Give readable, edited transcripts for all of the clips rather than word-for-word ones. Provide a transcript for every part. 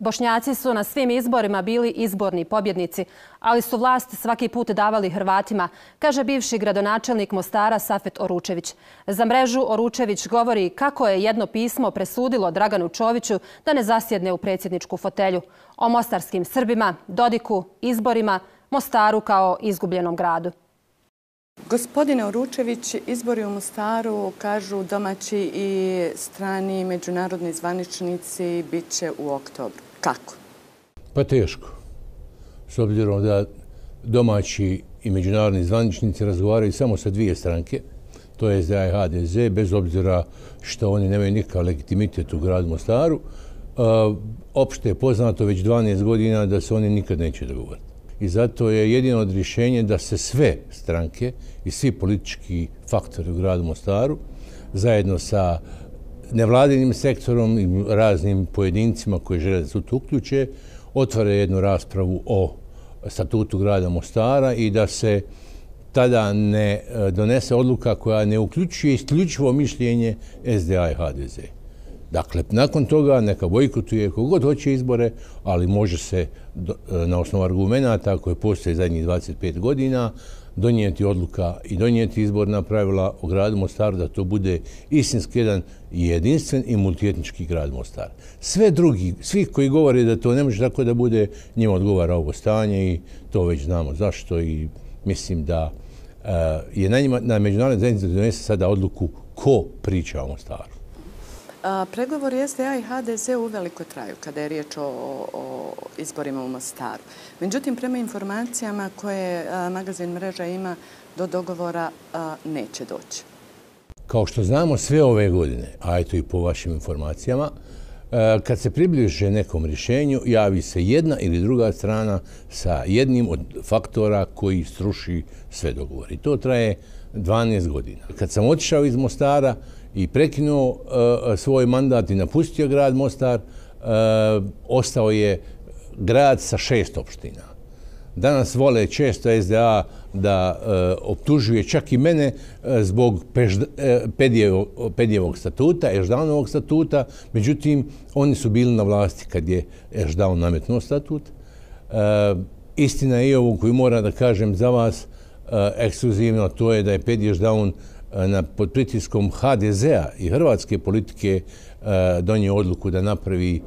Bošnjaci su na svim izborima bili izborni pobjednici, ali su vlast svaki put davali Hrvatima, kaže bivši gradonačelnik Mostara Safet Oručević. Za mrežu Oručević govori kako je jedno pismo presudilo Draganu Čoviću da ne zasjedne u predsjedničku fotelju. O mostarskim Srbima, Dodiku, izborima, Mostaru kao izgubljenom gradu. Gospodine Oručević, izbori u Mostaru, kažu domaći i strani međunarodni zvaničnici, bit će u oktobru. Kako? Pa teško. S obzirom da domaći i međunarodni zvaničnici razgovaraju samo sa dvije stranke, to je SDA i HDZ, bez obzira što oni nemaju nikakav legitimitet u gradu Mostaru. Opšte je poznato već 12 godina da se oni nikad neće dogovoriti. I zato je jedino od rješenja da se sve stranke i svi politički faktori u gradu Mostaru zajedno sa nevladinim sektorom i raznim pojedincima koji žele da se tu uključe, otvore jednu raspravu o statutu grada Mostara i da se tada ne donese odluka koja ne uključuje isključivo mišljenje SDA i HDZ. Dakle, nakon toga neka bojkotuje kogod hoće izbore, ali može se na osnovu argumenata koje postoje zadnjih 25 godina donijeti odluka i donijeti izborna pravila o gradu Mostaru da to bude istinski jedan jedinstven i multietnički grad Mostar. Sve drugi, svi koji govore da to ne može tako da bude, njima odgovara ovo stanje i to već znamo zašto i mislim da je na međunarodnoj zajednici da donese sada odluku ko priča o Mostaru. Pregovori SDA i HDZ uveliko traju kada je riječ o izborima u Mostaru. Međutim, prema informacijama koje magazin Mreža ima, do dogovora neće doći. Kao što znamo sve ove godine, a eto i po vašim informacijama, kad se približe nekom rješenju, javi se jedna ili druga strana sa jednim od faktora koji sruši sve dogovore. I to traje 12 godina. Kad sam otišao iz Mostara i prekinuo svoj mandat i napustio grad Mostar, ostao je grad sa 6 opština. Danas vole često SDA da optužuje čak i mene zbog Pedijevog statuta, Eždanovog statuta. Međutim, oni su bili na vlasti kad je Eždaun nametnuo statut. Istina je i ovo koju moram da kažem za vas ekskluzivno, to je da je Pedi Eždaun pod pritiskom HDZ-a i hrvatske politike donio odluku da napravi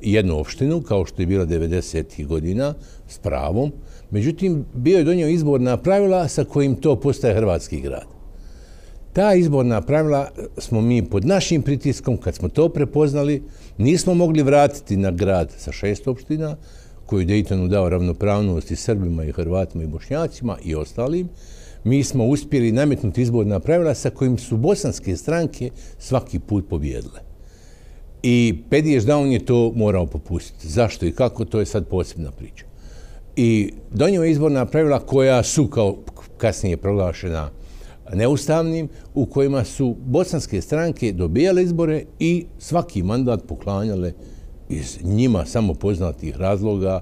jednu opštinu, kao što je bila 90. godina, s pravom. Međutim, bio je donio izborna pravila sa kojim to postaje hrvatski grad. Ta izborna pravila smo mi pod našim pritiskom, kad smo to prepoznali, nismo mogli vratiti na grad sa 6 opština, koju Dejtonu dao ravnopravnost i Srbima i Hrvatima i Bošnjacima i ostalim. Mi smo uspjeli nametnuti izborna pravila sa kojim su bosanske stranke svaki put pobjedile. I Pedi Eždaun je to morao popustiti. Zašto i kako, to je sad posebna priča. I donio je izborna pravila koja su kao kasnije proglašena neustavnim, u kojima su bosanske stranke dobijale izbore i svaki mandat poklanjale iz njima samo poznatih razloga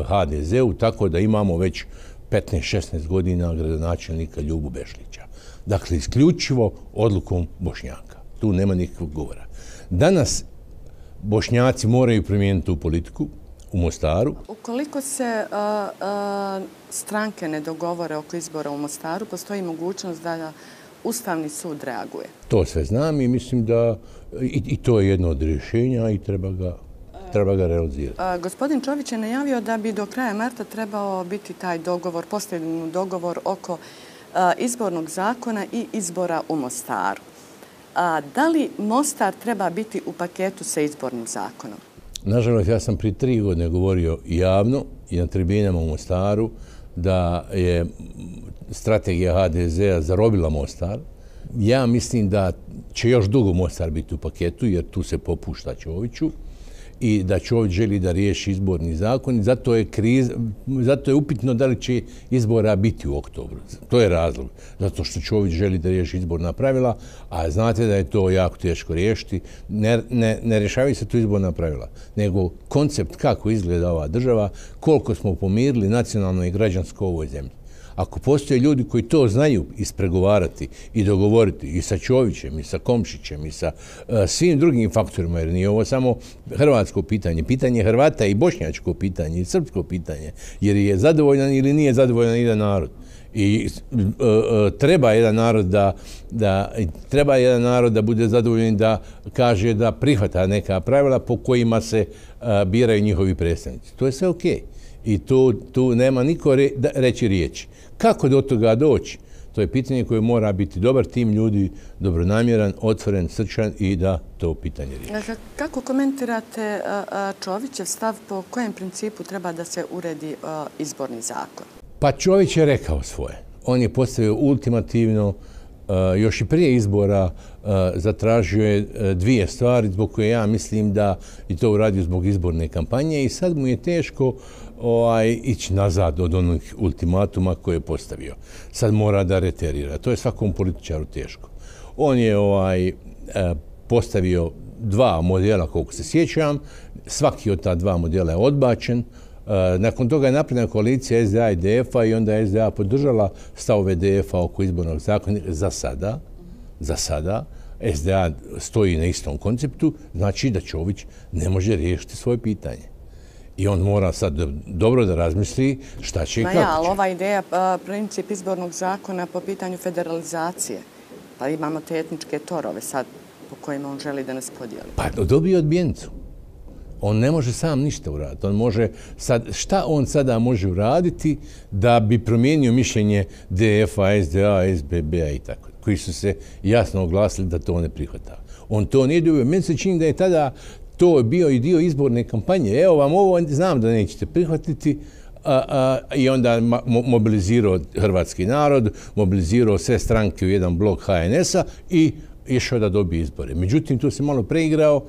HDZ-u, tako da imamo već 15-16 godina gradonačelnika Ljubu Bešlića. Dakle, isključivo odlukom Bošnjaka. Tu nema nikakvog govora. Danas Bošnjaci moraju promijeniti tu politiku u Mostaru. Ukoliko se stranke ne dogovore oko izbora u Mostaru, postoji mogućnost da Ustavni sud reaguje. To sve znam i mislim da i to je jedno od rješenja i treba ga realizirati. Gospodin Čović je najavio da bi do kraja marta trebao biti taj dogovor, postignut dogovor oko izbornog zakona i izbora u Mostaru. Da li Mostar treba biti u paketu sa izbornim zakonom? Nažalost, ja sam prije 3 godine govorio javno i na tribinama u Mostaru da je strategija HDZ-a zarobila Mostar. Ja mislim da će još dugo Mostar biti u paketu jer tu se popušta Čoviću i da Čović želi da riješi izborni zakon i zato je upitno da li će izbora biti u oktobru. To je razlog. Zato što Čović želi da riješi izborna pravila, a znate da je to jako teško riješiti. Ne rješavaju se tu izborna pravila, nego koncept kako izgleda ova država, koliko smo pomirili nacionalno i građansko u ovoj zemlji. Ako postoje ljudi koji to znaju ispregovarati i dogovoriti i sa Čovićem, i sa Komšićem, i sa svim drugim faktorima, jer nije ovo samo hrvatsko pitanje, pitanje Hrvata i bošnjačko pitanje i srpsko pitanje, jer je zadovoljan ili nije zadovoljan jedan narod. I treba jedan narod da bude zadovoljan, da kaže da prihvata neka pravila po kojima se biraju njihovi predstavnici. To je sve okej. I tu nema niko reći riječi. Kako do toga doći? To je pitanje koje mora biti dobar tim ljudi, dobronamjeran, otvoren, srčan i da to pitanje riješi. Kako komentirate Čovićev stav po kojem principu treba da se uredi izborni zakon? Pa Čović je rekao svoje. On je postavio ultimativno, još i prije izbora zatražio je dvije stvari zbog koje ja mislim da je to uradio zbog izborne kampanje i sad mu je teško ići nazad od onih ultimatuma koje je postavio. Sad mora da reterira. To je svakom političaru teško. On je postavio dva modela, koliko se sjećam. Svaki od ta dva modela je odbačen. Nakon toga je napravljena koalicija SDA i DF-a i onda je SDA podržala stavove DF-a oko izbornog zakona. Za sada SDA stoji na istom konceptu, znači da Čović ne može riješiti svoje pitanje. I on mora sad dobro da razmisli šta će i kako će. Ali ova ideja, princip izbornog zakona po pitanju federalizacije, pa imamo te etničke torove sad po kojima on želi da nas podijeli. Pa dobije odbijencu. On ne može sam ništa uraditi. On može šta on sada može uraditi da bi promijenio mišljenje DF-a, SDA, SBB-a i tako, koji su se jasno oglasili da to ne prihvata. On to nije dobio. Meni se čini da je tada to bio i dio izborne kampanje. Evo vam ovo, znam da nećete prihvatiti, i onda mobilizirao hrvatski narod, mobilizirao sve stranke u jedan blok HNS-a i išao da dobije izbore. Međutim, tu se malo preigrao,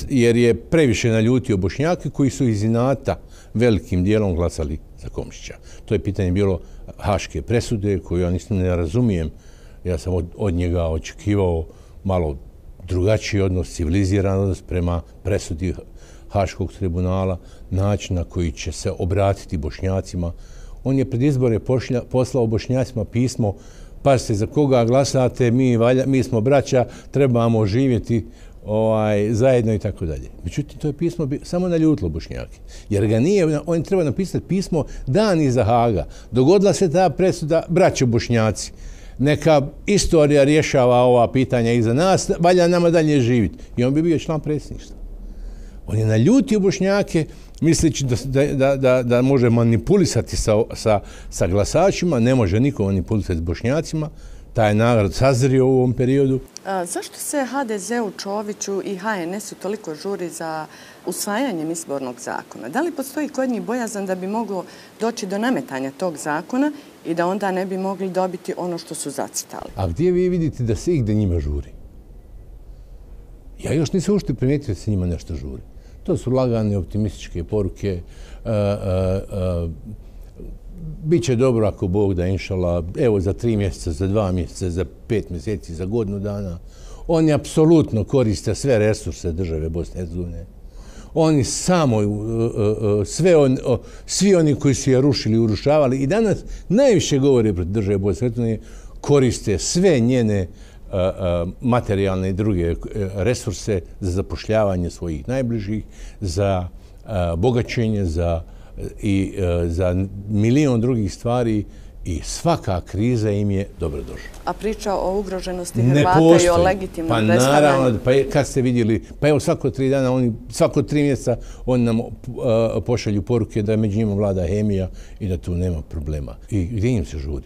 jer je previše naljutio Bošnjake koji su iz inata velikim dijelom glasali za Komšića. To je pitanje bilo haške presude koju ja ne razumijem. Ja sam od njega očekivao malo drugačiji odnos, civiliziran odnos prema presudi Haškog tribunala, način na koji će se obratiti Bošnjacima. On je pred izbore poslao Bošnjacima pismo: pazite, za koga glasate, mi smo braća, trebamo živjeti zajedno i tako dalje. Međutim, to je pismo samo naljutilo Bošnjake. Jer ga nije, on treba napisati pismo dan iza Haga. Dogodila se ta presuda, braćo Bošnjaci, neka istorija rješava ova pitanja iza nas, valja nama dalje živjeti. I on bi bio član predsjedništva. On je naljutio Bošnjake, misleći da može manipulisati sa glasačima, ne može niko manipulisati s Bošnjacima. Taj narod sazrio u ovom periodu. Zašto se HDZ-u, Čoviću i HNS-u toliko žuri za usvajanjem izbornog zakona? Da li postoji kod njih bojazan da bi moglo doći do nametanja tog zakona i da onda ne bi mogli dobiti ono što su zacitali? A gdje vi vidite da se igde njima žuri? Ja još nisam ušte primijetio da se njima nešto žuri. To su lagane, optimističke poruke. Biće dobro ako Bog da, inšala, evo za 3 mjeseca, za 2 mjeseca, za 5 mjeseci, za godinu dana. Oni apsolutno koriste sve resurse države Bosne i Hercegovine. Oni samo, svi oni koji su je rušili, urušavali i danas najviše govore protiv države Bosne i Hercegovine, koriste sve njene materijalne i druge resurse za zapošljavanje svojih najbližih, za bogaćenje, za milion drugih stvari i svaka kriza im je dobrodošla. A priča o ugroženosti Hrvata i o legitimnom predstavljanju? Pa naravno, kad ste vidjeli, pa evo svako 3 dana, svako 3 mjeseca oni nam pošalju poruke da među njima vlada hemija i da tu nema problema. I gdje im se žuri?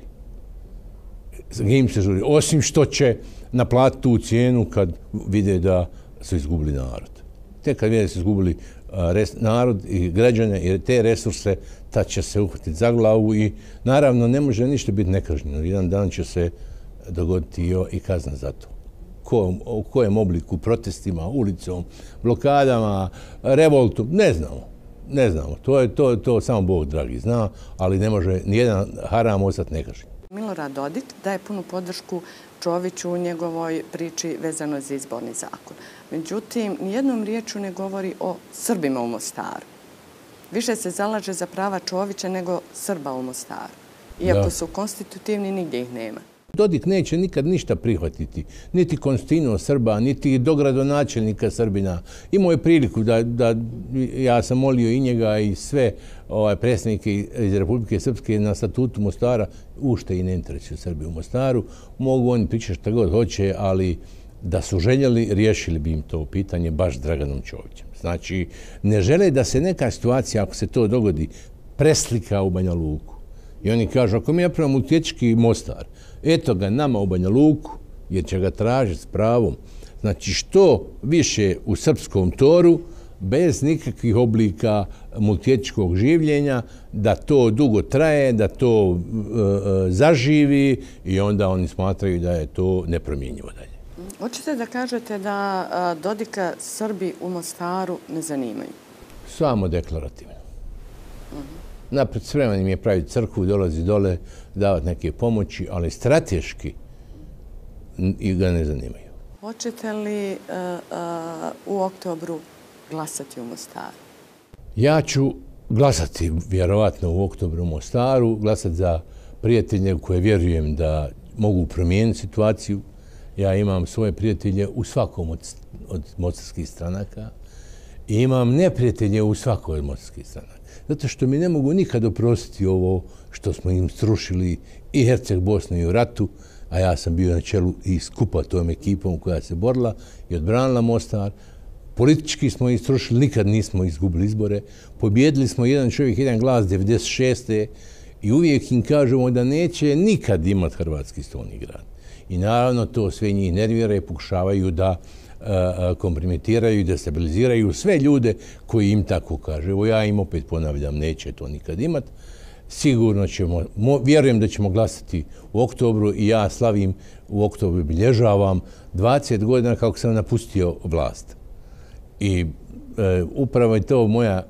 Gdje im se žuri? Osim što će naplatiti tu cijenu kad vide da su izgubili narod. Tek kad vide da su izgubili narod i građane i te resurse, tad će se uhvatiti za glavu i naravno ne može ništa biti nekažnjeno. Jedan dan će se dogoditi i kazna za to. U kojem obliku, protestima, ulicom, blokadama, revoltu, ne znamo. Ne znamo. To samo Bog dragi zna, ali ne može nijedan haram ostati nekažnjen. Milorad Dodik daje punu podršku Čoviću u njegovoj priči vezano za izborni zakon. Međutim, nijednom riječu ne govori o Srbima u Mostaru. Više se zalaže za prava Čovića nego Srba u Mostaru. Iako su konstitutivni, nigdje ih nema. Dodik neće nikad ništa prihvatiti. Niti Konstantino Srba, niti dogradonačelnika Srbina. Imao je priliku da ja sam molio i njega i sve predsjednike iz Republike Srpske na statutu Mostara, ušte i ne interesuju Srbi u Mostaru. Mogu oni pričati šta god hoće, ali da su željeli, riješili bi im to pitanje baš Draganom Čovićem. Znači, ne žele da se neka situacija, ako se to dogodi, preslika u Banja Luku. I oni kažu, ako mi napravimo multietnički Mostar, eto ga nama u Banja Luku, jer će ga tražiti s pravom. Znači, što više u srpskom toru, bez nikakvih oblika multietničkog življenja, da to dugo traje, da to zaživi i onda oni smatraju da je to nepromjenjivo dalje. Hoćete da kažete da Dodika Srbi u Mostaru ne zanimaju? Samo deklarativno. Napred spreman im je praviti crkvu, dolazi dole, davati neke pomoći, ali strateški ga ne zanimaju. Hoćete li u oktobru glasati u Mostaru? Ja ću glasati vjerovatno u oktobru u Mostaru, glasati za prijatelje koje vjerujem da mogu promijeniti situaciju. Ja imam svoje prijatelje u svakom od mostarskih stranaka i imam neprijatelje u svakoj od mostarskih stranaka. Zato što mi ne mogu nikad oprostiti ovo što smo im srušili i Herceg Bosnu i u ratu, a ja sam bio na čelu i skupa tom ekipom koja se borila i odbranila Mostar. Politički smo ih srušili, nikad nismo izgubili izbore. Pobjedili smo jedan čovjek, jedan glas 96. I uvijek im kažemo da neće nikad imati Hrvatski stolni grad. I naravno to sve njih nervira i pokušavaju da kompromitiraju i destabiliziraju sve ljude koji im tako kaže. Evo ja im opet ponavljam, neće to nikad imati. Sigurno ćemo, vjerujem da ćemo glasati u oktobru i ja slavim u oktobru, bilježavam 20 godina kako sam napustio vlast. I upravo je to moja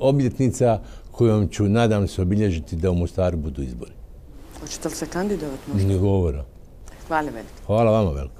obljetnica kojom ću, nadam se, obilježiti da u Mostaru budu izbori. Hoćete li se kandidovati možda? Ne govora. Hvala veliko. Hvala vama veliko.